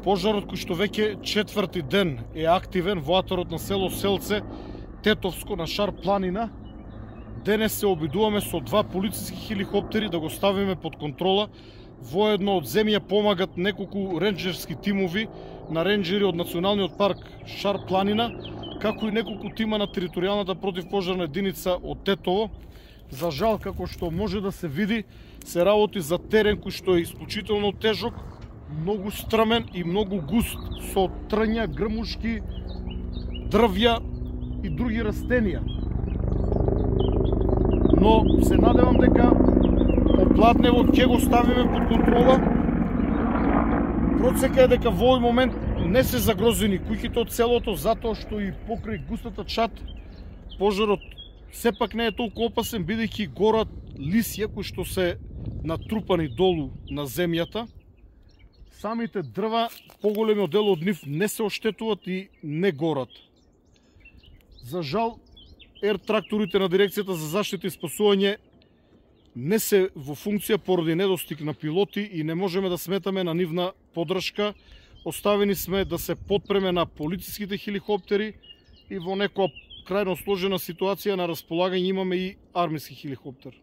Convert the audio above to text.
Пожарот кој што веќе четврти ден е активен во атарот на село Селце, Тетовско на Шар планина, денес се обидуваме со 2 полициски хеликоптери да го ставиме под контрола. Воедно од земја помагат неколку ренџерски тимови на ренџери од Националниот парк Шар планина, како и неколку тима на територијалната противпожарна единица од Тетово. За жал, како што може да се види, се работи за терен кој што е исклучително тежок, многу стрмен и многу густ, со трња, грмушки, дрвја и други растенија. Но се надевам дека Попладневот ќе го ставиме под контрола. Процека е дека во овој момент не се загрозени куќите од селото, затоа што и покрај густата чат пожарот сепак не е толку опасен, бидејќи горат лисја кои што се натрупани долу на земјата. Самите дрва, поголемиот дел од нив не се оштетуваат и не горат. За жал, тракторите на Дирекцијата за заштита и спасување не се во функција поради недостиг на пилоти и не можеме да сметаме на нивна поддршка. Оставени сме да се потпреме на полициските хеликоптери и во некоја крајно сложена ситуација на располагање имаме и армиски хеликоптер.